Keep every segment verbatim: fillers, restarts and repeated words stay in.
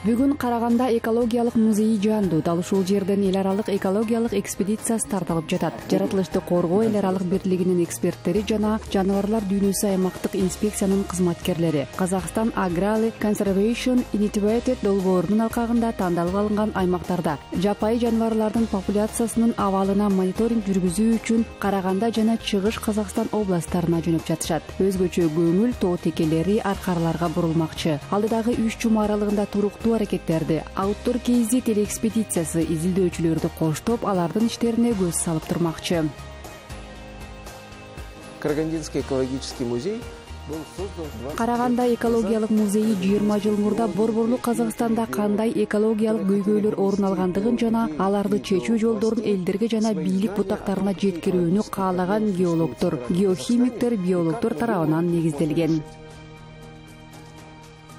Бүгүн Караганда экологиялык музейи жандуу. Дал ушул жерден эл аралык экологиялык экспедициясы тартылып жатат. Жаратылышты коргоо эл аралык бирлигинин эксперттери жана жаныбарлар дүйнөсү аймактык инспекциянын кызматкерлери Казакстан Agral Conservation Initiative долбоорунун алкагында тандалып алынган аймактарда жапайы жаныбарлардын популяциясынын абалына мониторинг жүргүзүү үчүн Караганда жана Чыгыш Казакстан областтарына жөнөп жатышат. Өзгөчө көңүл тоо текелери аркарларга бурулмакчы. Алдыдагы үч жума аралыгында туруктуу аракеттерди Outdoor K Z телеэкспедициясы изилдөөчүлөрдү коштоп, алардын иштерине көз салып турмакчы. Карагандинский экологический музей Караганда экологиялык музейи жыйырма жыл мурда Борборлук Казакстанда кандай экологиялык көйгөйлөр орун алгандыгын жана аларды чечүү жолдорун элдерге жана бийлик бутактарына жеткирүүнү каалаган геологдор, геохимиктер, биологдор тарабынан негизделген.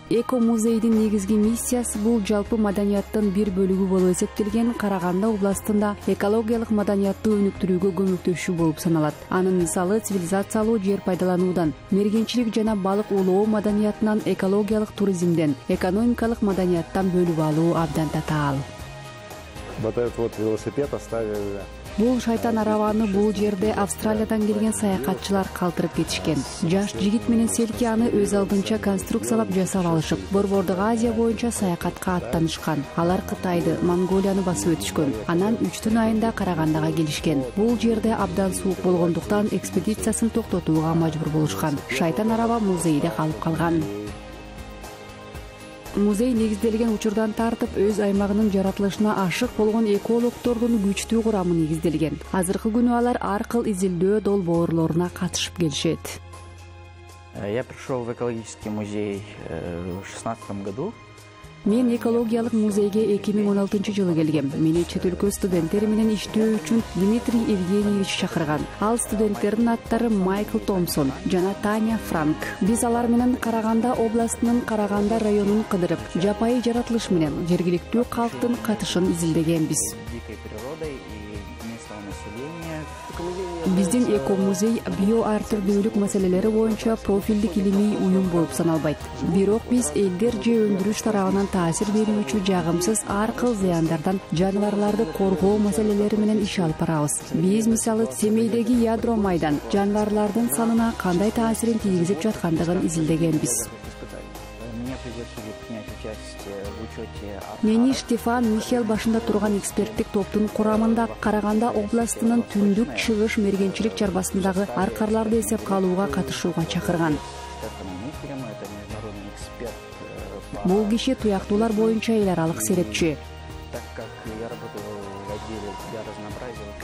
Эко музейдин негизги миссиясы бул жалпы маданияттын бир бөлүгү болуп эсептелген Караганда областында экологиялык маданиятты өнүктүрүүгө көмөктөшүү болуп саналат. Анын мисалы цивилизациялуу жер пайдалануудан, мергенчилик жана балык улоо маданиятынан, экологиялык туризмден, экономикалык маданияттан бөлүп алуу абдан татаал. Вот этот вот велосипед оставили. Бул шайтан арабаны бул жерде Австралиядан келген саякатчылар калтырып кетишкен. Жаш жигит менен селки аны өз алдынча конструкциялап жасап алышып, Борбордук Азия боюнча саякатка аттанышкан. Алар Кытайды, Монголияны басып өтүшкөн. Анан үчтүн айында Карагандага келишкен. Бул жерде абдан суук болгондуктан экспедициясын токтотууга мажбур болушкан. Шайтан араба музейде калып калган. Музей негизделген учурдан тартып өз аймагынын жаратылышына ашык болгон экологдордун күчтүү курамы негизделген. Азыркы күнү алар ар кыл изилдөө долбоорлоруна катышып келишет. Я пришел в экологический музей в шестнадцатом году. Мен экологиялык музейге эки миң он алтынчы жылы келгем. Мени чет өлкө студенттери менен иштөө үчүн Дмитрий Евгеньевич чакырган. Ал студенттердин аттары Майкл Томпсон жана Таня Франк. Биз алар менен Караганда областынын Караганда районун кыдырып, жапайы жаратылыш менен жергиликтүү калктын катышын изилдегенбиз. Биздин эко музей био ар түрдүүлүк маселелери боюнча профилдик илимий уюм болуп саналбайт. Бирок биз элдер же өндүрүш тарабынан таасир берүүчү жагымсыз ар кыл зыяндардан жаныбарларды коргоо маселелери менен иш алып барабыз. Биз мисалы Семейдеги ядро майдан жаныбарлардын санына кандай таасирин тийгизип жаткандыгын изилдегенбиз. Мени Штефан Михел башында турган эксперттик топтун курамында Караганда областынын түндүк Чыгыш мергенчилик чарбасындагы аркарларды эсепке алууга катышууга чакырган. Бул киши туяктуулар боюнча эл аралык серепчи.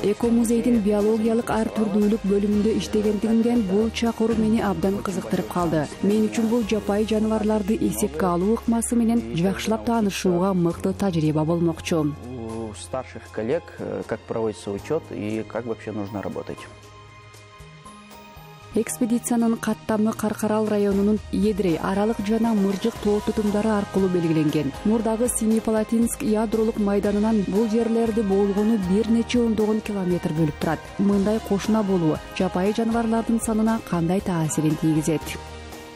Эко музейдин биологиялык ар түрдүүлүк бөлүмүндө иштегендигимден бул чакыруу мени абдан кызыктырып калды. Мен үчүн бул жапайы жаныбарларды эсепке алуу ыкмасы менен жакшылап таанышууга мыкты тажрыйба болмокчу. У старших коллег как проводится учет и как вообще нужно работать. Экспедициянын каттамы Каркарал районунун Едрей, Аралык жана Мыржык тоо тутумдары аркылуу белгиленген. Мурдагы Семипалатинск ядролук майданынан бул жерлерди болгону бир нече ондогон километр бөлүп турат. Мындай кошуна болуу жапайы жаныбарлардын санына кандай таасирин тийгизет?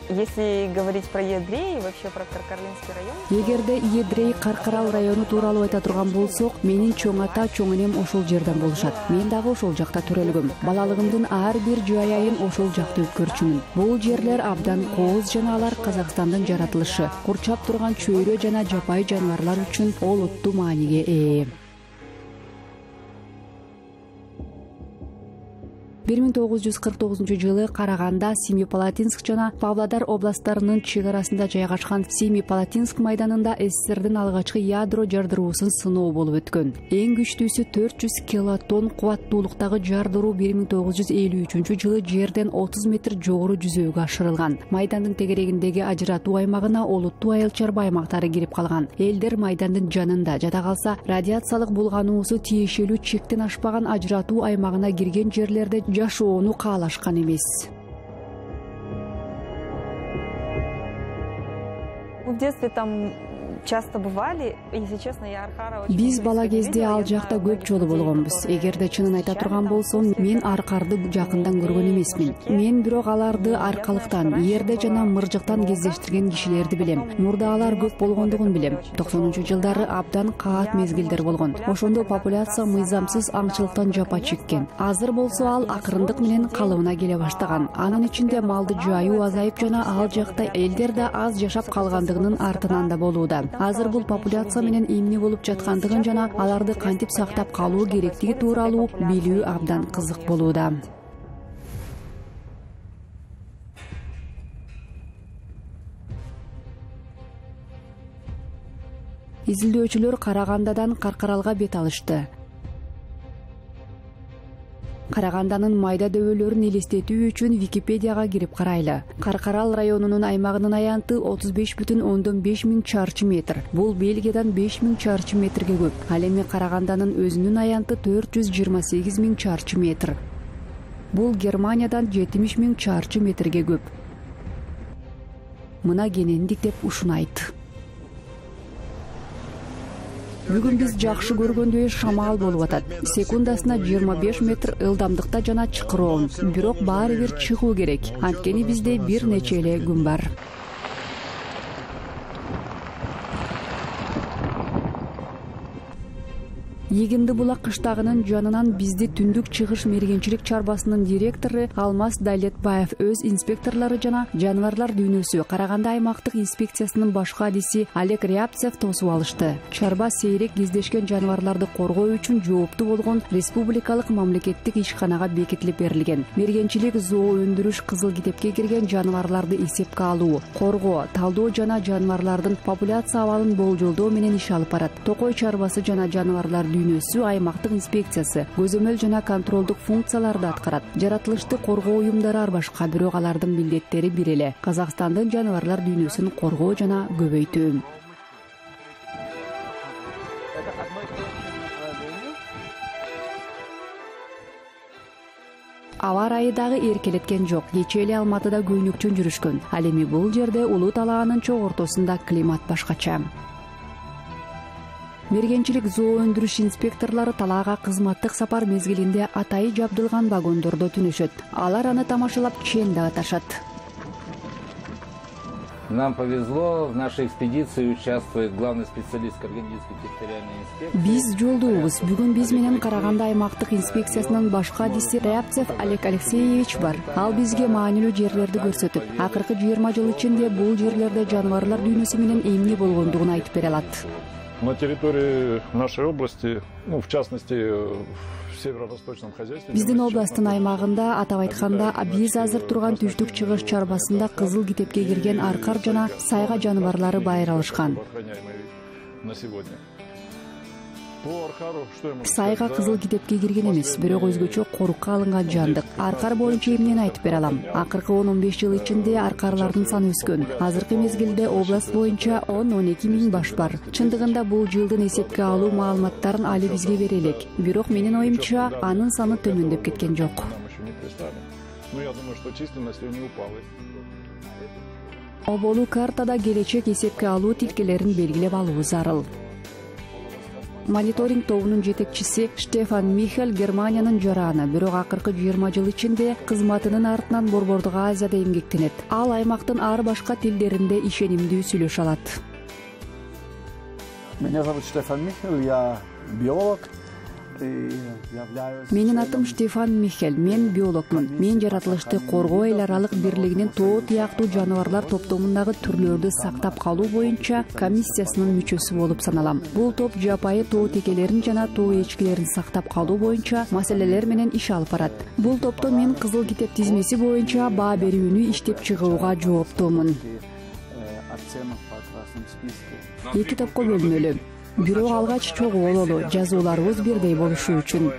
Если говорить про Едрей и вообще про Каркаралинский район... Эгерде Едрей Каркарал району тууралуу айта турган болсок, менин чоң ата, чоң энем ошол жерден болушат. Мен дагы ошол жакта төрөлгөм. Балалыгымдын ар бир жай айын ошол жакта өткөрчүмүн. Бул жерлер абдан кооз жана алар Казакстандын жаратылышы, курчап турган чөйрө жана жапайы жаныбарлар үчүн олуттуу мааниге ээ. бир миң тогуз жүз кырк тогузунчу жылы Караганда, Семипалатинск жана Павлодар областтарынын чек арасында жайгашкан Семипалатинск майданында СССРдин алгачкы ядро жардыруусун сыноо болуп өткөн. Эң күчтүүсү төрт жүз килотонн кубаттуулуктагы жардыруу бир миң тогуз жүз элүү үчүнчү жылы жерден отуз метр жогору жүзөөгө ашырылган. Майдандын тегерегиндеги ажыратуу аймагына олуттуу айыл чарба аймактары кирип калган. Элдер майдандын жанында жада калса, радиациялык булгануусу тиешелүү чектен ашпаган ажыратуу аймагына кирген жерлерде жашоону каалашкан эмес. В детстве там часто бывали. Если честно, я Аркара очень Биз близко бала не кезде видела. ал Я жакта знаю көп многих жолу людей, болгонбуз. которые Эгерде чынын айта встречали турган там болсом, после мен этого. аркарды жакындан көргөн эмесмин. Мен бирок аларды аркалыктан, жерде жана мыржыктан кездештирген кишилерди билем. Мурдагылар көп болгондугун билем. токсонунчу жылдары абдан каат мезгилдер болгон. Ошондо популяция мыйзамсыз аңчылыктан жапа чеккен. Азыр болсо ал акырындык менен калыбына келе баштаган. Анын ичинде малды жайуу азайып жана ал жакта элдер да аз жашап калгандыгынын артынан да болууда. Азыр бул популяция менен эмне болуп жаткандыгын жана аларды кантип сактап калуу керектиги тууралуу билүү абдан кызык болууда. Изилдөөчүлөр Карагандадан Каркаралга бет алышты. Караганданын майда дөбөлөрүн элестетүү үчүн Википедияга кирип карайлы. Каркарал районунун аймагынын аянты отуз беш бүтүн ондон беш миң чарчы метр. Бул Бельгиядан беш миң чарчы метрге көп. Ал эми Караганданын өзүнүн аянты төрт жүз жыйырма сегиз миң чарчы метр. Бул Германиядан жетимиш миң чарчы метрге көп. Мына кенендик деп ушунайт. Бүгүн биз жакшы көргөндөй шамал болуп атат. Секундасына жыйырма беш метр ылдамдыкта жана чыкыроон. Бирок баары бир чыгуу керек. Анткени бизде бир нече эле күн бар. Егинди булак кыштагынын жанынан бизди түндүк чыгыш мергенчилик чарбасынын директору Алмаз Дайлетбаев өз инспекторлору жана жаныбарлар дүйнөсү Караганда аймактык инспекциясынын башкы адиси Олег Рябцев тосуп алышты. Чарба сейрек кездешкен жаныбарларды коргоо үчүн жооптуу болгон республикалык мамлекеттик ишканага бекитилип берилген. Мергенчилик зоо өндүрүш кызыл китепке кирген жаныбарларды эсепке алуу, коргоо, талдоо жана жаныбарлардын популяция абалын болжолдоо менен иш алып барат. Токой чарбасы жана жаныбарлар дүйнөсү аймактык инспекциясы көзөмөл жана контролдук функцияларды аткарат. Жаратылышты коргоо уюмдары ар башка, бирок алардын милдеттери бир эле: Казакстандын жаныбарлар дүйнөсүн коргоо жана көбөйтүү. Аба ырайы дагы эркелеткен жок. Кечээ эле Алматыда көйнөкчөн жүрүшкөн. Ал эми бул жерде Улуу талаанын чок ортосунда климат башкача. Мергенчилик зоо өндүрүш инспекторлору талаага кызматтык сапар мезгилинде атайы жабдылган вагондордо түнөшөт. Алар аны тамашалап чен да аташат. Нам повезло, в нашей экспедиции участвует главный специалист Карагандинской территориальной инспекции. Биз жолдообуз. Бүгүн биз менен Караганда аймактык инспекциясынын башкы адиси Рябцев Олег Алексеевич бар. Ал бизге маанилүү жерлерди көрсөтүп, акыркы жыйырма жыл ичинде бул жерлерде жаныбарлар дүйнөсү менен эмне болгондугун айтып бере алат. На территории нашей области, ну, в частности, в северо-восточном хозяйстве... Биздин областтын аймагында, атап айтканда, биз азыр турган түштүк чыгыш чарбасында кызыл китепке кирген аркар жана сайга жаныбарлары байыралышкан. На сегодня. Сайга кызыл китепке кирген эмес, бирок өзгөчө корукка алынган жандык. Аркар боюнча эмнени айтып бере алам? Акыркы он он беш жыл ичинде аркарлардын саны өскөн. Азыркы мезгилде област боюнча он он эки миң баш бар. Чындыгында бул жылдын эсепке алуу маалыматтарын али бизге бере элек. Бирок менин оюмча, анын саны төмөндөп кеткен жок. Оболу картада келечек эсепке алуу тилкелерин белгилеп алуу зарыл. Мониторинг тобунун жетекчиси Штефан Михель Германиянын жараны, бирок акыркы жыйырма жыл ичинде кызматынын артынан Борбордук Азияда эмгектенет. Ал аймактын ар башка тилдеринде ишенимдүү сүйлөшө алат. Меня зовут Штефан Михель, я биолог. Менин атым Штефан Михель, мен биологмун. Мен жаратылышты коргоо эл аралык бирлигинин тоо тияктуу жаныбарлар топтомундагы түрлөрдү сактап калуу боюнча комиссиясынын мүчөсү болуп саналам. Бул топ жапайы тоо текелерин жана тоо эчкилерин сактап калуу боюнча маселелер менен иш алып барат. Бул топто мен кызыл китеп тизмеси боюнча баа берүүнү иштеп чыгууга жооптуумун. Эки топко бөлүнөлү. Бирок алгач чогуу бололу, жазууларыбыз бирдей болушу үчүн.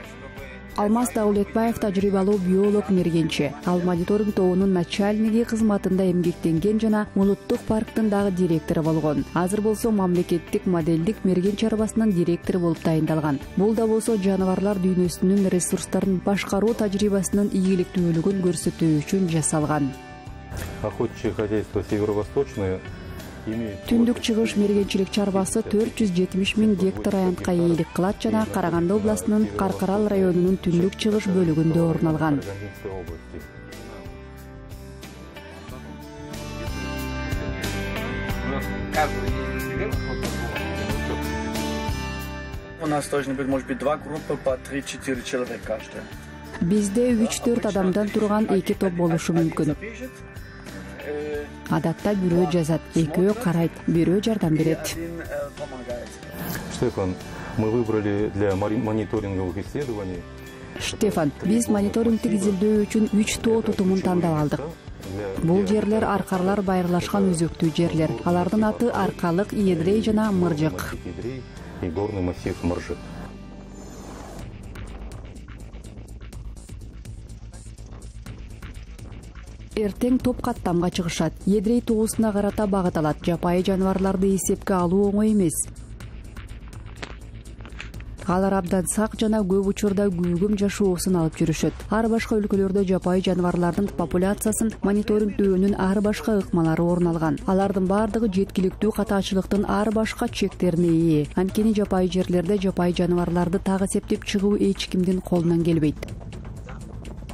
Алмаз Дайлетбаев тажрыйбалуу биолог мергенчи. Ал мониторинг тобунун начальниги кызматында эмгектенген жана улуттук парктын дагы директору болгон. Азыр болсо мамлекеттик моделдик мерген чарбасынын директору болуп дайындалган. Бул да болсо жаныбарлар дүйнөсүнүн ресурстарын башкаруу тажрыйбасынын ийгиликтүүлүгүн көрсөтүү үчүн жасалган. Охотничье хозяйство северо-восточное Түндүк чыгыш мергенчилик чарбасы төрт жүз жетимиш миң гектар аянтка ээлик кылат жана Караганды областынын Каркарал районунун түндүк чыгыш бөлүгүндө орун алган. У нас должны быть, может быть, два группы по три-четыре человека каждая. Бизде үч төрт адамдан турган эки топ болушу мүмкүн. Адатта бирөө жазат, экөө карайт, бирөө жардам берет. Штефан, мы выбрали для мониторинговых исследований. Штефан, биз мониторингтик изилдөө үчүн үч тоо тутумун тандап алдык. Бул жерлер аркарлар байырлашкан өзөктүү жерлер. Алардын аты Аркалык, Едрей жана Мыржык. И горный массив Мыржык. Эртең топ каттамга чыгышат. Едрей тоосуна карата багыт алат. Жапайы жаныбарларды эсепке алуу оңой эмес. Алар абдан сак жана көп учурда күүгүм жашоосун алып жүрүшөт. Ар башка өлкөлөрдө жапайы жаныбарлардын популяциясын мониторингдөөнүн ар башка ыкмалары орун алган. Алардын бардыгы жеткиликтүү катаачылыктын ар башка чектерине ээ. Анткени жапайы жерлерде жапайы жаныбарларды так эсептеп чыгуу эч кимдин колунан келбейт.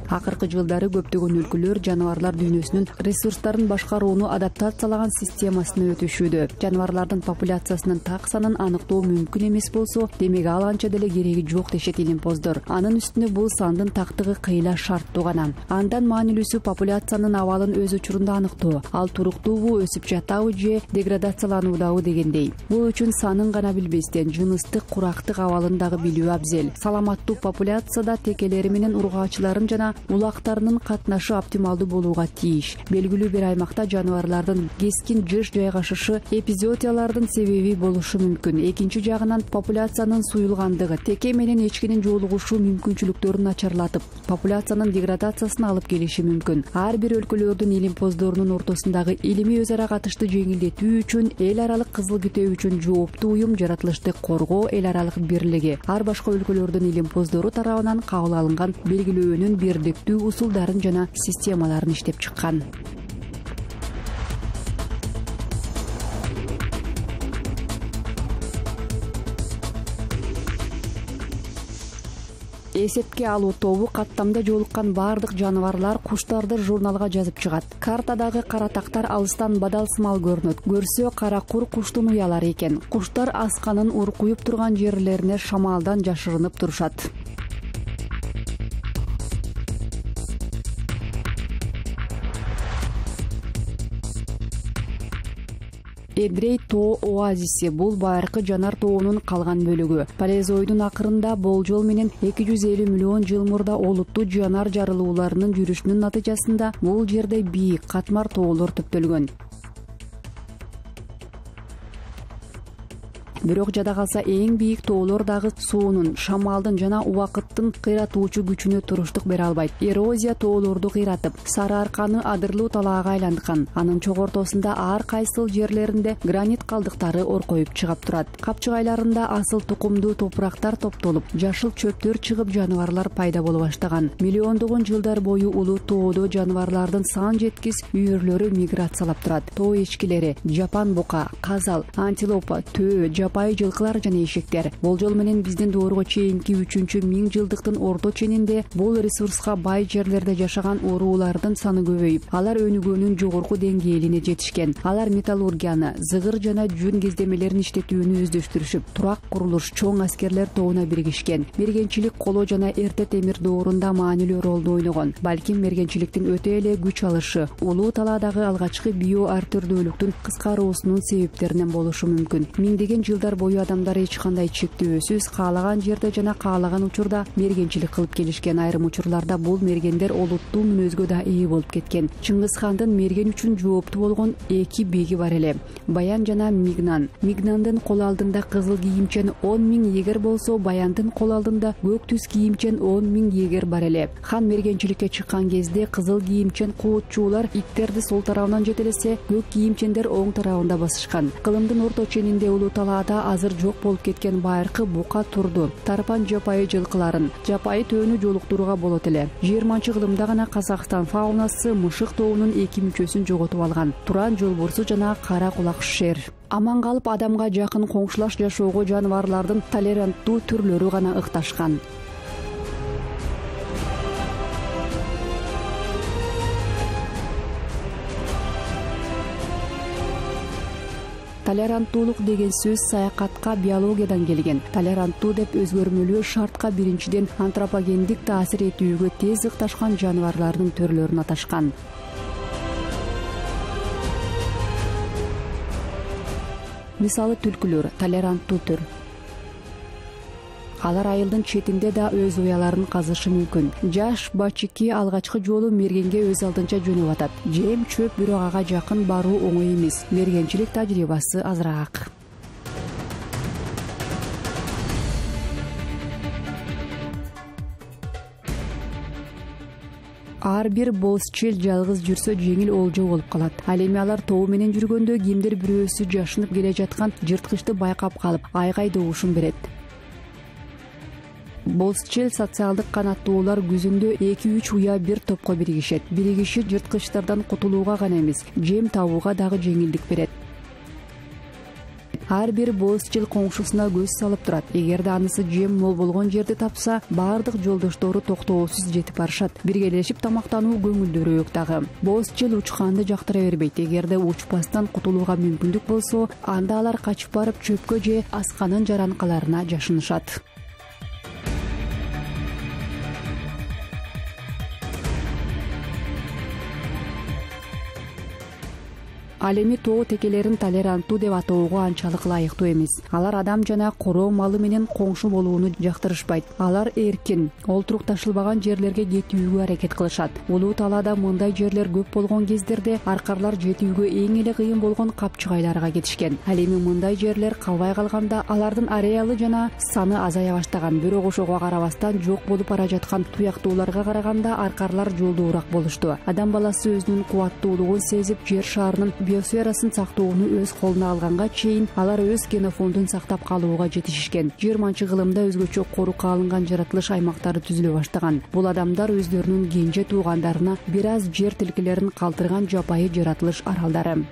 Акыркы жылдары көптөгөн өлкөлөр жаныбарлар дүйнөсүнүн ресурстарын башкарууну адаптациялаган системасына өтүшүүдө. Жаныбарлардын популяциясынын так санын аныктоо мүмкүн эмес болсо, демек ал анча деле кереги жок дешет илимпоздор. Анын үстүнө бул сандын тактыгы кыйла шарттуу гана. Андан маанилүүсү популяциянын абалын өз учурунда аныктоо. Ал туруктуубу, өсүп жатабы же деградациялануудабы дегендей. Бул үчүн санын гана билбестен жыныстык, курактык абалын дагы билүү абзел. Саламаттуу популяцияда текелери менен ургаачыларын жана улактарынын катнашы оптималдуу болууга тийиш. Белгилүү бир аймакта жаныбарлардын кескин жыш жайгашышы эпизоотиялардын себеби болушу мүмкүн. Экинчи жагынан популяциянын суюлгандыгы теке менен эчкинин жолугушу мүмкүнчүлүктөрүн начарлатып, популяциянын деградациясына алып келиши мүмкүн. Ар бир өлкөлөрдүн илимпоздорунун ортосундагы илимий өз ара катышты жеңилдетүү үчүн эл аралык кызыл китеп үчүн жооптуу уюм жаратылышты коргоо эл аралык бирлиги ар башка өлкөлөрдүн илимпоздору тарабынан кабыл алынган белгилөөнүн бирдиктүү усулдарын жана системаларын иштеп чыккан. Эсепке алуу тобу каттамда жолуккан бардык жаныбарлар, куштарды журналга жазып чыгат. Картадагы кара тактар алыстан бадалсымал көрүнөт. Көрсө кара кур куштун уялары экен. Куштар асканын уркуюп турган жерлерине шамалдан жашырынып турушат. Эдрей тоо оазиси бул байыркы жанар тоонун калган бөлүгү. Палеозойдун акырында болжол менен эки жүз элүү миллион жыл мурда олуттуу жанар жарылууларынын жүрүшүнүн натыйжасында бул жерде бийик катмар тоолор төптөлгөн. Бирок жада калса эң бийик тоолор дагы суунун, шамалдын жана убакыттын кыйратуучу күчүнө туруштук бере албайт. Эрозия тоолорду кыйратып, Сары Арканы адырлуу талаага айланткан. Анын чогортосунда ар кайсыл жерлеринде гранит калдыктары оркоюп чыгап турат. Капчыгайларында асыл тукумдуу топурактар топтолуп, жашыл чөптөр чыгып жаныбарлар пайда боло баштаган. Миллиондогон жылдар бою улуу тоодо жаныбарлардын сан жеткис үйүрлөрү миграциялап турат. Тоо эчкилери, жапан бука, казал, антилопа, төө, жапайы жылкылар жана эшектер. Болжол менен биздин доорго чейинки үчүнчү миң жылдыктын орто ченинде бул ресурска бай жерлерде жашаган уруулардын саны көбөйүп, алар өнүгүүнүн жогорку деңгээлине жетишкен. Алар металлургияны, зыгыр жана жүн кездемелерин иштетүүнү өздөштүрүшүп, турак курулуш, чоң аскерлер тобуна биригишкен. Мергенчилик коло жана эрте темир доорунда маанилүү ролду ойногон. Балким мергенчиликтин өтө эле күч алышы улуу талаадагы алгачкы био ар түрдүүлүктүн кыскаруусунун себептеринен болушу мүмкүн. Миңдеген жылдар бою адамдар эч кандай чектөөсүз каалаган жерде жана каалаган учурда мергенчилик кылып келишкен. Айрым учурларда бул мергендер олуттуу мүнөзгө да ээ болуп кеткен. Чыңгыз хандын мерген үчүн жооптуу болгон эки биги бар эле. Баян жана Мигнан. Мигнандын кол алдында кызыл кийимчен он миң егер болсо, Баяндын кол алдында көк түс кийимчен он миң егер бар эле. Хан мергенчиликке чыккан кезде кызыл кийимчен куутчуулар иттерди сол тарабынан жетелесе, көк кийимчендер оң тарабында басышкан. Кылымдын орто ченинде улуу талаада анда азыр жок болуп кеткен байыркы бука турду, тарпан жапайы жылкыларын, жапайы төөнү жолуктурууга болот эле. жыйырманчы кылымда гана Казакстан фаунасы мышык тобунун эки мүчөсүн жоготуп алган. Туран жолбурсу жана кара кулак шер. Аман калып адамга жакын коңшулаш жашоого жаныбарлардын толеранттуу түрлөрү гана ыкташкан. Толеранттуулук деген сөз саякатка биологиядан келген. Толеранттуу деп өзгөрмөлүү шартка биринчиден антропогендик таасир этүүгө тез ыкташкан жаныбарлардын түрлөрүн аташкан. Мисалы түлкүлөр толеранттуу түр. Алар айылдын четинде да өз уяларын казышы мүмкүн. Жаш бачики алгачкы жолу мергенге өз алдынча жөнөп атат. Жем чөп бирок ага жакын баруу оңой эмес. Мергенчилик тажрыйбасы азыраак. Ар бир боз-чел жалгыз жүрсө жеңил олжо болуп калат. Ал эми алар тобу менен жүргөндө кимдир бирөөсү жашынып келе жаткан жырткычты байкап калып, айкай добушун берет. Боз-чел социалдык канаттуулар күзүндө эки үч уя бир топко биригишет. Биригиши жырткычтардан кутулууга гана эмес, жем табууга дагы жеңилдик берет. Ар бир боз-чел коңшусуна көз салып турат. Эгерде анысы жем мол болгон жерди тапса, бардык жолдоштору токтоосуз жетип барышат. Биргелешип тамактануу көңүлдүүрөөк дагы. Боз-чел учканды жактыра бербейт. Эгерде учпастан кутулууга мүмкүндүк болсо, анда алар качып барып чөпкө же асканын жаранкаларына жашынышат. Ал эми тоо текелерин толеранттуу деп атоого анчалык ылайыктуу эмес. Алар адам жана короо малы менен коңшу болууну жактырышпайт. Алар эркин, олтурук ташылбаган жерлерге кетүүгө аракет кылышат. Улуу талаада мындай жерлер көп болгон кездерде аркарлар жетүүгө эң эле кыйын болгон капчыгайларга кетишкен. Ал эми мындай жерлер калбай калганда алардын ареалы жана саны азая баштаган. Бирок ошого карабастан жок болуп бара жаткан туяктууларга караганда аркарлар жолдуураак болушту. Адам баласы өзүнүн кубаттуулугун сезип, жер шарынын биосферасын сактоону өз колуна алганга чейин алар өз генофондун сактап калууга жетишишкен. жыйырманчы кылымда өзгөчө корукка алынган жаратылыш аймактары түзүлө баштаган. Бул адамдар өздөрүнүн кенже туугандарына бир аз жер тилкелерин калтырган жапайы жаратылыш аралдары.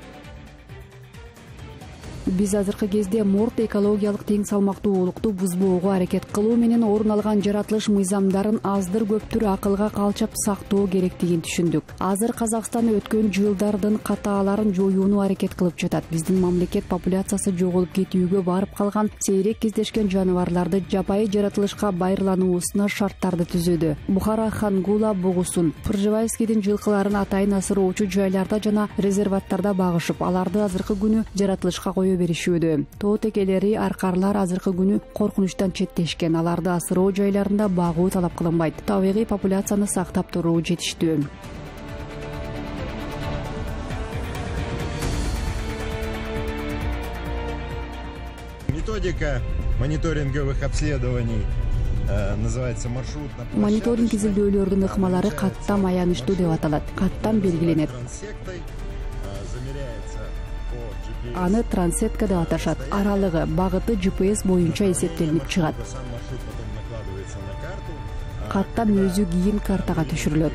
Биз азыркы кезде морт экологиялык тең салмактуулукту бузбоого аракет кылуу менен орун алган жаратылыш мыйзамдарын аздыр-көптүр акылга калчап сактоо керектигин түшүндүк. Азыр Казакстан өткөн жылдардын катааларын жоюуну аракет кылып жатат. Биздин мамлекет популяциясы жоголуп кетүүгө барып калган сейрек кездешкен жаныбарларды жапайы жаратылышка байырлануусуна шарттарды түзүүдө. Бухара Хангула бугусун, Пржевальскийдин жылкыларын атайын асыроочу жайларда жана резерваттарда багышып, аларды азыркы күнү жаратылышка коюп беришүүдө. Тоо текелери, аркарлар азыркы күнү коркунучтан четтешкен. Аларды асыроо жайларында багуу талап кылынбайт. Табигый популяцияны сактап туруу жетиштүү. Методика мониторинговых обследований называется маршрут. Мониторинг изилдөөлөрдүн ыкмалары каттам аянычтуу деп аталат. Каттам белгиленет. Аны трансетка деп аташат. Аралыгы, багыты джи пи эс боюнча эсептелип чыгат. Каттам өзү кийин картага түшүрүлөт.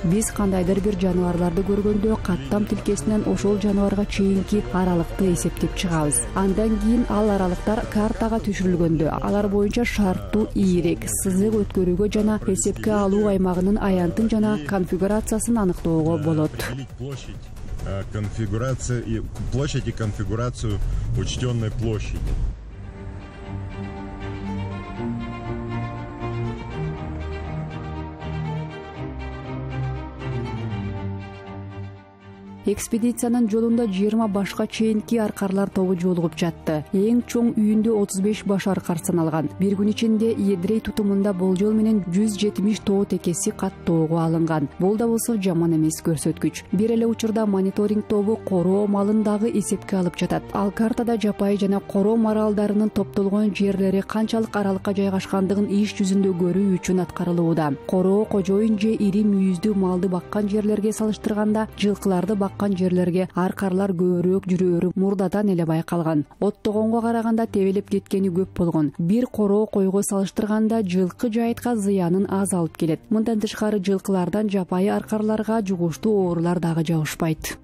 Биз кандайдыр бир жаныбарларды көргөндө каттам тилкесинен ошол жаныбарга чейинки аралыкты эсептеп чыгабыз. Андан кийин ал аралыктар картага түшүрүлгөндө алар боюнча шарттуу ийрек, сызык өткөрүүгө жана эсепке алуу аймагынын аянтын жана конфигурациясын аныктоого болот. Конфигурация и площадь и конфигурацию учтенной площади. Экспедициянын жолунда жыйырма башка чейинки аркарлар тобу жолугуп жатты. Эң чоң үйүндө отуз беш баш аркар саналган. Бир күн ичинде Едрей тутумунда болжол менен жүз жетимиш тоо текеси каттоого алынган. Бул да болсо жаман эмес көрсөткүч. Бир эле учурда мониторинг тобу короо малын дагы эсепке алып жатат. Ал картада жапайы жана короо маралдарынын топтолгон жерлери канчалык аралыкка жайгашкандыгын иш жүзүндө көрүү үчүн аткарылууда. Короо кожоюн же ири мүйүздүү малды баккан жерлерге салыштырганда жылкыларды аккан жерлерге аркарлар көбүрөөк жүрөөрү мурдадан эле байкалган. Оттогонго караганда тебелеп кеткени көп болгон. Бир короо койго салыштырганда жылкы жайытка зыянын аз алып келет. Мындан тышкары жылкылардан жапайы аркарларга жугуштуу оорулар дагы жабышпайт.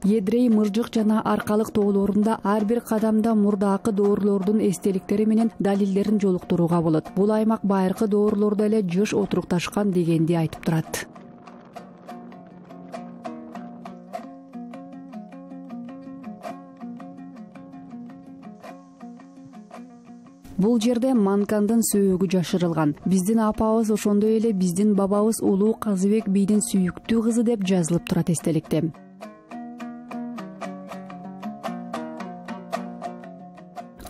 Едрей, мыржык жана аркалык тоолорунда ар бир кадамда мурдакы доорлордун эстеликтери менен далилдерин жолуктурууга болот. Бул аймак байыркы доорлордо эле жыш отурукташкан дегенди айтып турат. Бул жерде Манкандын сөөөгү жашырылган. Биздин апабыз ошондой эле биздин бабабыз Улуу Казыбек бийдин сүйүктүү кызы деп жазылып турат эстеликте.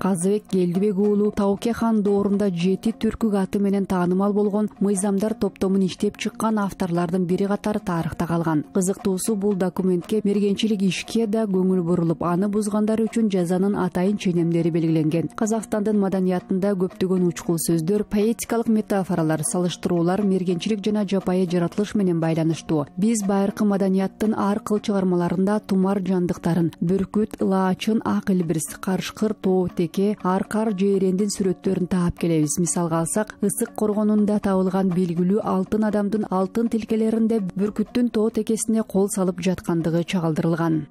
Казыбек Келдибек уулу Тауке хан доорунда жети түркүк аты менен таанымал болгон мыйзамдар топтомун иштеп чыккан авторлордун бири катары тарыхта калган. Кызыктуусу, бул документке мергенчилик ишке да көңүл бурулуп, аны бузгандар үчүн жазанын атайын ченемдери белгиленген. Казакстандын маданиятында көптөгөн учкул сөздөр, поэтикалык метафоралар, салыштыруулар мергенчилик жана жапайы жаратылыш менен байланыштуу. Биз байыркы маданияттын ар кыл чыгармаларында тумар жандыктарын, бүркүт, ылаачын, ак илбирс, карышкыр, тоо теке, аркар, жээрендин сүрөттөрүн таап келебиз. Мисалга алсак, Ысык коргонунда табылган белгилүү алтын адамдын алтын тилкелеринде бүркүттүн тоо текесине кол салып жаткандыгы чагылдырылган.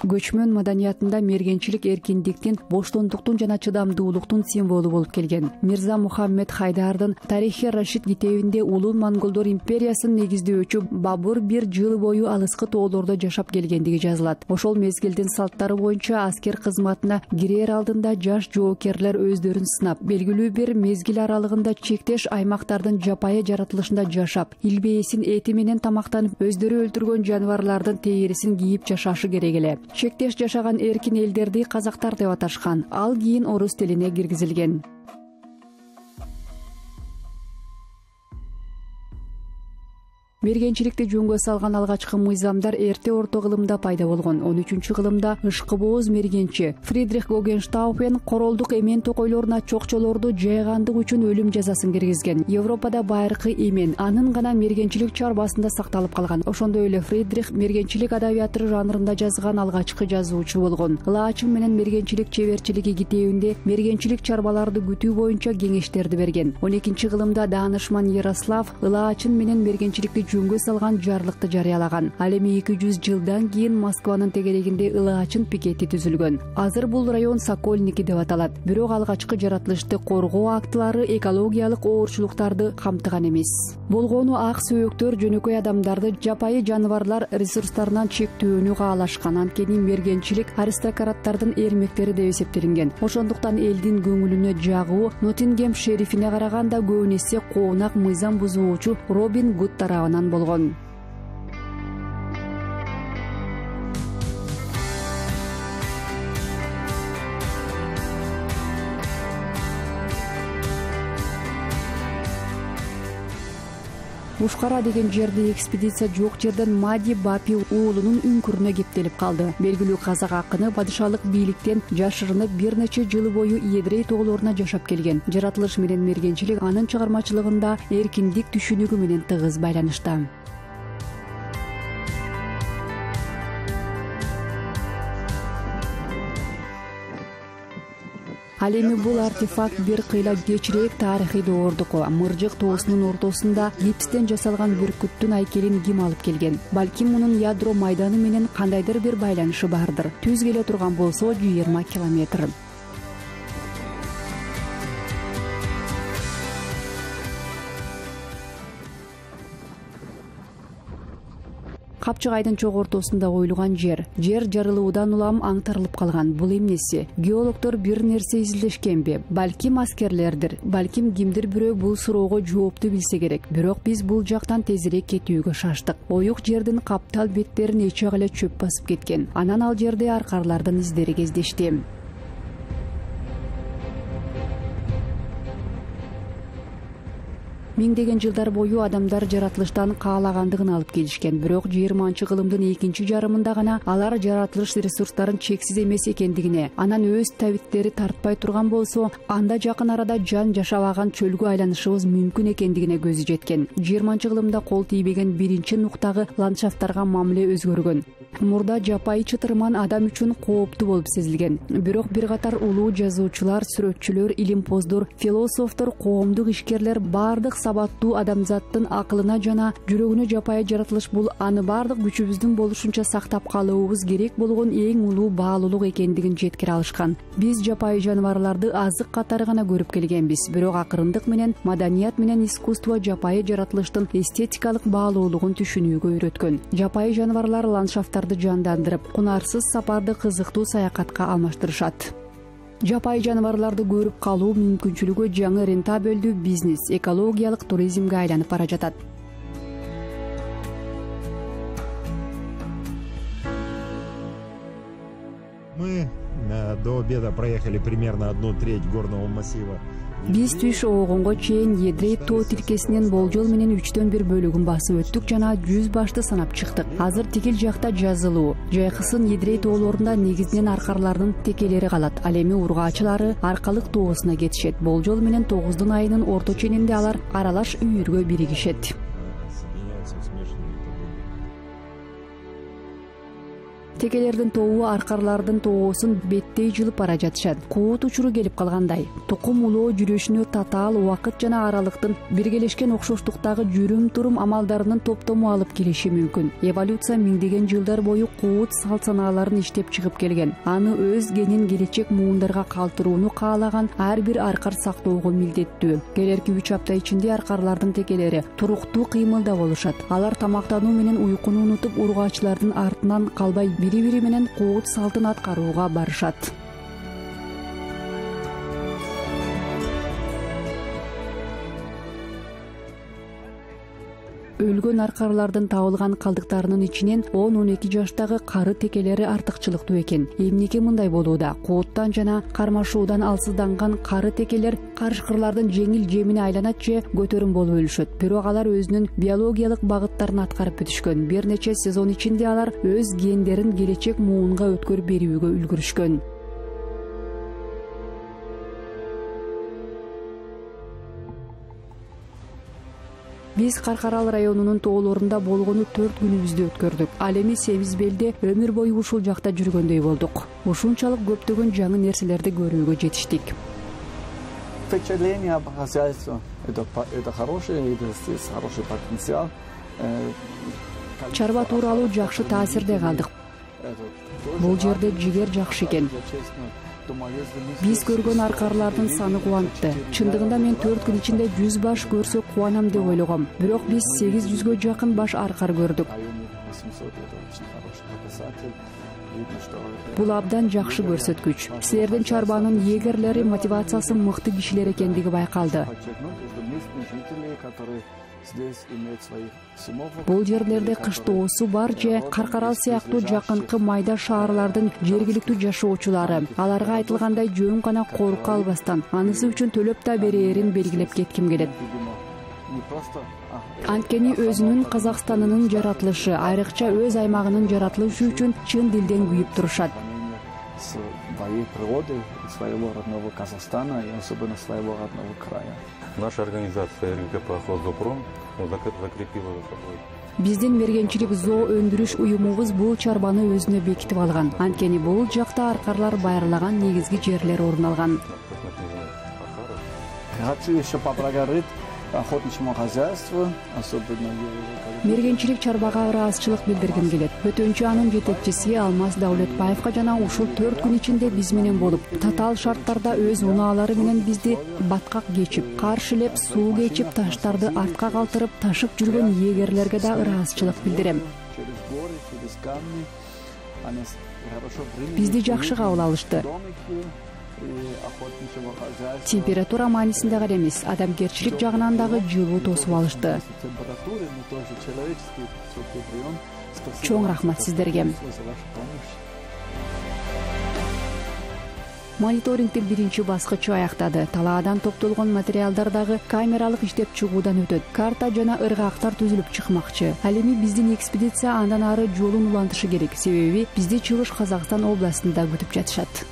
Көчмөн маданиятында мергенчилик эркиндиктин, боштондуктун жана чыдамдуулуктун символу болуп келген. Мирза Мухаммед Хайдардын Тарихи Рашид китебинде улуу монголдор империясын негиздөөчү Бабур бир жыл бою алыскы тоолордо жашап келгендиги жазылат. Ошол мезгилдин салттары боюнча аскер кызматына кирер алдында жаш жоокерлер өздөрүн сынап, белгилүү бир мезгил аралыгында чектеш аймактардын жапайы жаратылышында жашап, илбээсин эти менен тамактанып, өздөрү өлтүргөн жаныбарлардын тээрисин кийип жашашы керек эле. Чектеш жашаган эркин элдерди казактар деп аташкан. Ал кийин орус тилине киргизилген. Мергенчиликти жөнгө салган алгачкы мыйзамдар эрте орто кылымда пайда болгон. он үчүнчү кылымда ышкыбооз мергенчи Фридрих Гогенштауфен королдук эмен токойлоруна чокчолорду жайгандык үчүн өлүм жазасын киргизген. Европада байыркы эмен анын гана мергенчилик чарбасында сакталып калган. Ошондой эле Фридрих мергенчилик адабияты жанрында жазган алгачкы жазуучу болгон. Ылаачын менен мергенчилик чеберчилиги китебинде мергенчилик чарбаларды күтүү боюнча кеңештерди берген. он экинчи кылымда даанышман Ярослав ылаачын менен мергенчиликти жөнгө салган жарлыкты жарыялаган. Ал эми эки жүз жылдан кийин Москванын тегерегинде ылаачын пикети түзүлгөн. Азыр бул район Сокольники деп аталат. Бирок алгачкы жаратылышты коргоо актылары экологиялык оорчулуктарды камтыган эмес. Болгону ак сөөктөр жөнөкөй адамдарды, жапайы жаныбарлар ресурстарынан чектөөнү каалашкан. Анткени мергенчилик аристократтардын эрмектери деп эсептелинген. Ошондуктан элдин көңүлүнө жагуу Ноттингем шерифине караганда көбүн эсе коонак мыйзам бузуучу Робин Гуд тарабынан болгон. Ушкара деген жерде экспедиция жок жерден Мади Бапи уулунун үңкүрүнө кептелип калды. Белгилүү казак акыны падышалык бийликтен жашырынып бир нече жыл бою Едрей тоолоруна жашап келген. Жаратылыш менен мергенчилик анын чыгармачылыгында эркиндик түшүнүгү менен тыгыз байланышта. Ал эми бул артефакт бир кыйла кечирээк тарыхый доордуку. Мыржык тоосунун ортосунда гипстен жасалган бүркүттүн айкелин ким алып келген? Балким мунун ядро майданы менен кандайдыр бир байланышы бардыр. Түз келе турган болсо жыйырма километр. Капчыгайдын чок ортосунда коюлган жер. Жер жарылуудан улам аңтарылып калган. Бул эмнеси? Геологдор бир нерсе изилдешкенби? Балким аскерлердир. Балким кимдир бирөө бул суроого жоопту билсе керек. Бирок биз бул жактан тезирээк кетүүгө шаштык. Оюк жердин каптал беттерин эче эле чөп басып кеткен. Анан ал жерде аркарлардын издери кездешти. Миңдеген жылдар бою адамдар жаратылыштан каалагандыгын алып келишкен. Бирок жыйырманчы кылымдын экинчи жарымында гана алар жаратылыш ресурстарын чексиз эмес экендигине, анан өз табиттери тартпай турган болсо, анда жакын арада жан жашабаган чөлгө айланышыбыз мүмкүн экендигине көзү жеткен. жыйырманчы кылымда кол тийбеген биринчи нуктагы ландшафттарга мамиле өзгөргөн. Мурда жапайы чытырман адам үчүн кооптуу болуп сезилген. Бирок бир катар улуу жазуучулар, сүрөтчүлөр, илимпоздор, философтор, коомдук ишкерлер бардык сабаттуу адамзаттын акылына жана жүрөгүнө жапайы жаратылыш бул аны бардык күчүбүздүн болушунча сактап калуубуз керек болгон эң улуу баалуулук экендигин жеткире алышкан. Биз жапайы жаныбарларды азык катары гана көрүп келгенбиз, бирок акырындык менен маданият менен искусство жапайы жаратылыштын эстетикалык баалуулугун түшүнүүгө үйрөткөн. Жапайы жаныбарлар ландшафттарды жандандырып, кунарсыз сапарды кызыктуу саякатка алмаштырышат. Жапайы жаныбарларды көрүп калуу мүмкүнчүлүгү жаңы рентабелдүү бизнес, экологиялык туризмге айланып бара жатат. Мы до обеда проехали примерно одну треть горного массива. Биз түш оогонго чейин Едрей тоо тилкесинен болжол менен үчтөн бир бөлүгүн басып өттүк жана жүз башты санап чыктык. Азыр тигил жакта жазылуу. Жайкысын Едрей тоолорунда негизинен аркарлардын текелери калат. Ал эми ургаачылары аркалык тоосуна кетишет. Болжол менен тогуздун айынын орто ченинде алар аралаш үйүргө биригишет. Текелердин тобу аркарлардын тоосун беттей жылып бара жатышат. Куут учуру келип калгандай. Тукум улоо жүрүшүнө татаал убакыт жана аралыктын биргелешкен окшоштуктагы жүрүм-турум амалдарынын топтому алып келиши мүмкүн. Эволюция миңдеген жылдар бою куут салт санааларын иштеп чыгып келген. Аны өз генин келечек муундарга калтырууну каалаган ар бир аркар сактоого милдеттүү. Келерки үч апта ичинде аркарлардын текелери туруктуу кыймылда болушат. Алар тамактануу менен уйкуну унутуп, ургаачылардын артынан калбай бири-бири менен куут салтын аткарууга барышат. Өлгөн аркарлардын табылган калдыктарынын ичинен он он эки жаштагы кары текелери артыкчылыктуу экен. Эмнеге мындай болууда? Кууттан жана кармашуудан алсызданган кары текелер карышкырлардын жеңил жемине айланат же көтөрүм болуп өлүшөт. Бирок алар өзүнүн биологиялык багыттарын аткарып бүтүшкөн. Бир нече сезон ичинде алар өз гендерин келечек муунга өткөрүп берүүгө үлгүрүшкөн. Биз Каркарал районунун тоолорунда болгону төрт күнүбүздү өткөрдүк. Ал эми Семиз Белде өмүр бою ушул жакта жүргөндөй болдук. Ушунчалык көптөгөн жаңы нерселерди көрүүгө жетиштик. Впечатление по хозяйству это это хорошее, это есть хороший потенциал. Чарба тууралуу жакшы таасирде калдык. Бул жерде жигер жакшы экен. Биз көргөн аркарлардын саны кубантты. Чындыгында мен төрт күн ичинде жүз баш көрсө кубанам деп ойлогом. Бирок биз сегиз жүзгө жакын баш аркар көрдүк. Бул абдан жакшы көрсөткүч. Силердин чарбанын эгерлери мотивациясы мыкты кишилер экендиги байкалды. Бул жерлерде кыштоосу бар же Каркарал сыяктуу жакынкы майда шаарлардын жергиликтүү жашоочулары. Аларга айтылгандай жөн гана корко албастан, анысы үчүн төлөп да берээрин белгилеп кетким келет. Анткени өзүнүн Казакстанынын жаратылышы, айрыкча өз аймагынын жаратылышы үчүн чын дилден күйүп турушат. Своей природы, своего родного Казахстана и особенно своего родного края. Наша организация РГКП «Хозопром» закрепила за собой. Биздин мергенчилик зоо өндүрүш уюмубуз бул чарбаны өзүнө бекитип алган. Анткени бул жакта аркарлар байырлаган негизги жерлер орун алган. Хочу еще поблагодарить охотничьему хозяйству, особенно мергенчилик чарбага ыраазычылык билдиргим келет. Өтөнчү анын жетекчиси Алмаз Даулетбаевга жана ушул төрт күн ичинде биз менен болуп, татаал шарттарда өз унаалары менен бизди баткак кечип, каршылеп, суу кечип, таштарды артка калтырып ташып жүргөн эгерлерге да ыраазычылык билдирем. Бизди жакшы кабыл алышты. Температура маанисинде гана эмес, адамгерчилик жагынан дагы жылуу тосуп алышты. Чоң рахмат сиздерге. Мониторингдин биринчи баскычы аяктады. Талаадан топтолгон материалдар дагы камералык иштеп чыгуудан өтөт. Карта жана ыргактар түзүлүп чыкмакчы. Ал эми биздин экспедиция андан ары жолун улантышы керек. Себеби бизди Чыгыш Казакстан областында күтүп жатышат.